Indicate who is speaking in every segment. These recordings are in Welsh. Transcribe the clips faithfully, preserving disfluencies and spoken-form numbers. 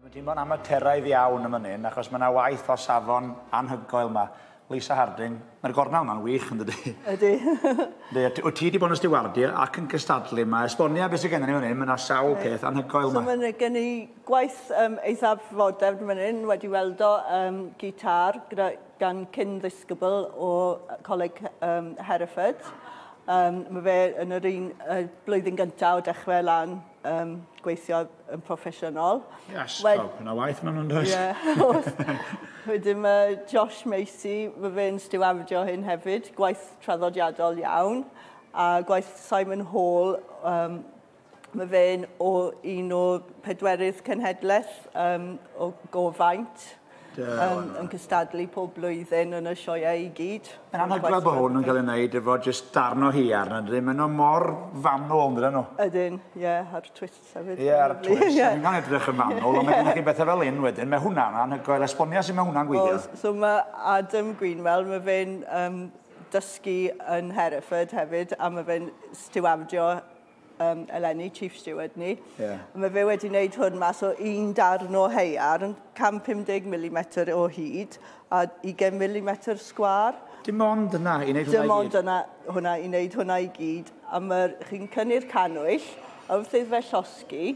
Speaker 1: Mae'n teimlo'n amaturaidd iawn yn fan hyn, achos mae yna waith o safon anhygoel yma. Lisa Harding, mae'r gornel yma'n wych, yn dydi?
Speaker 2: Ydy.
Speaker 1: Wyt ti wedi bod yn stiwardio ac yn cystadlu yma. Esbonia beth sydd gennym ni fan hyn, mae yna sawl peth anhygoel
Speaker 2: So
Speaker 1: yma.
Speaker 2: mae gen i gwaith um, eithaf fodern fan hyn, wedi weldo um, gitar gyda, gan cyn ddisgybl o Coleg um, Hereford. Um, mae fe yn yr un uh, blwyddyn gyntaf o dechrau lan um, gweithio yn proffesiynol.
Speaker 1: Yes,
Speaker 2: Wed-
Speaker 1: yna waith maen nhw'n does?
Speaker 2: Ie, oes. Wedyn mae Josh Macy, mae fe'n stiwardio hyn hefyd, gwaith traddodiadol iawn. A gwaith Simon Hall, um, mae fe'n o un o pedwerydd cenhedlaeth um, o Gofaint. Um, yn cystadlu pob blwyddyn yn y sioeau i gyd.
Speaker 1: Mae'n anhygoel bod hwn yn cael ei wneud efo jyst darn o haearn, yn dydi? Maen nhw mor fanwl, yn dydyn nhw?
Speaker 2: Ydyn, ie, yeah, a'r twist hefyd.
Speaker 1: Ie, ar y twist.
Speaker 2: Ie.
Speaker 1: Mae'n cael edrych yn fanwl, ond mae gennych chi bethau fel un wedyn. Mae hwnna'n anhygoel. Esbonia sut mae hwnna'n gweithio.
Speaker 2: Oes, so mae Adam Greenwell, mae fe'n um, dysgu yn Hereford hefyd, a mae fe'n stiwardio um, eleni, Chief Steward ni.
Speaker 1: Ie.
Speaker 2: A mae fe wedi wneud hwn mas o un darn o haearn, cant pum deg milimetr o hyd, a ugain milimetr sgwâr.
Speaker 1: Dim ond yna i wneud hwnna
Speaker 2: Dim
Speaker 1: i
Speaker 2: ond
Speaker 1: gyd.
Speaker 2: yna, hwnna i wneud hwnna i gyd. A mae chi'n cynnu'r cannwyll, a wrth iddo fe llosgi,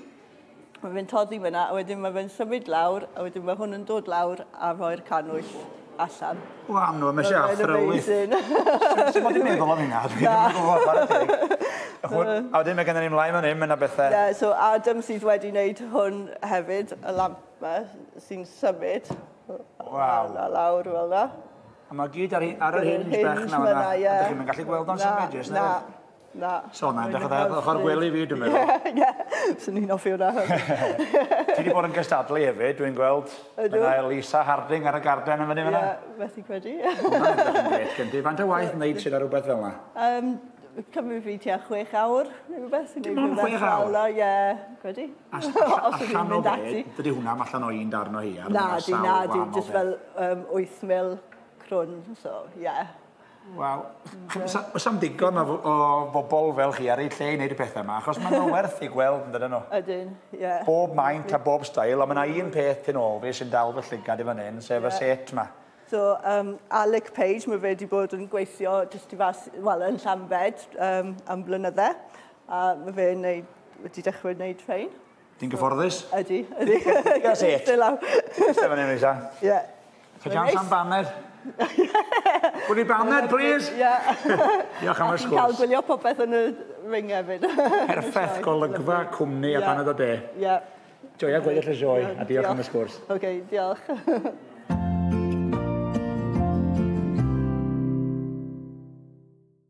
Speaker 2: mae fe'n toddi fyna, a wedyn mae fe'n symud lawr, a wedyn mae hwn yn dod lawr a rhoi'r cannwyll allan.
Speaker 1: Wel, no, mae eisiau
Speaker 2: Mae'n
Speaker 1: athrylith.
Speaker 2: amazing.
Speaker 1: Sut mod i'n meddwl am hynna? Dwi ddim yn gwybod, chwarae teg. Hwn- A wedyn mae gennym ni mlaen fan hyn, mae yna bethau.
Speaker 2: Yeah, so Adam sydd wedi wneud hwn hefyd, y lamp yma, sy'n symud.
Speaker 1: Waw.
Speaker 2: A lawr fel 'na.
Speaker 1: A mae gyd ar, ar yr hinge bech na
Speaker 2: Hinge
Speaker 1: fan'na.
Speaker 2: fyna, ie.
Speaker 1: Ydych chi'n gallu gweld o'n
Speaker 2: Na,
Speaker 1: symud, jyst
Speaker 2: Na,
Speaker 1: na?
Speaker 2: na.
Speaker 1: So na, edrych oedd ochr gwely fi, dwi'n meddwl.
Speaker 2: Ie, swn i'n hoffi hwnna.
Speaker 1: Ti wedi bod yn cystadlu hefyd, dwi'n gweld.
Speaker 2: Ydw.
Speaker 1: Mae yna Lisa Harding ar y garden yn fyny fan'na.
Speaker 2: Ie, methu credu.
Speaker 1: Hwnna'n edrych yn grêt gen ti. Faint o waith wneud sydd ar rhywbeth fel yna?
Speaker 2: Um, cymryd fi tua chwech awr, neu rhywbeth.
Speaker 1: Dim ond chwech awr?
Speaker 2: Ie, credu.
Speaker 1: Os
Speaker 2: Os ydw i'n
Speaker 1: allan o
Speaker 2: mynd
Speaker 1: be,
Speaker 2: ati.
Speaker 1: dydy hwnna allan o un darn o haearn.
Speaker 2: Na,
Speaker 1: ma'
Speaker 2: di,
Speaker 1: sawl
Speaker 2: na, di,
Speaker 1: gwahanol
Speaker 2: just
Speaker 1: beth.
Speaker 2: fel um, wyth mil crwn, so, ie. Yeah.
Speaker 1: Waw. Oes am digon o, o bobl fel chi ar eu lle i wneud y pethau yma, achos maen nhw werth i gweld, yn dydyn nhw?
Speaker 2: Ydyn, ie. Yeah.
Speaker 1: Bob maint a bob steil, ond mae yna un peth tu ôl fi sy'n dal fy llygad i fan hyn, sef y
Speaker 2: Ie.
Speaker 1: set yma.
Speaker 2: So, um, Alec Page, mae fe wedi bod yn gweithio jyst i fas, wel, yn Llambed um, am blynydde. A mae fe'n neud, wedi dechrau wneud rhain.
Speaker 1: Ti'n gyfforddus?
Speaker 2: Ydy, ydy.
Speaker 1: Ie, set.
Speaker 2: Still out.
Speaker 1: Iste fan hyn, Lisa.
Speaker 2: Ie.
Speaker 1: Cha chance am baned? Gwni baned, please?
Speaker 2: Ie.
Speaker 1: Diolch am
Speaker 2: A
Speaker 1: y
Speaker 2: chi'n cael
Speaker 1: sgwrs.
Speaker 2: gwylio popeth yn y ring hefyd.
Speaker 1: Perffaith golygfa, cwmni a
Speaker 2: Ie.
Speaker 1: paned o de.
Speaker 2: Ie.
Speaker 1: Joia gweddill y sioe, a diolch am y sgwrs.
Speaker 2: OK, diolch.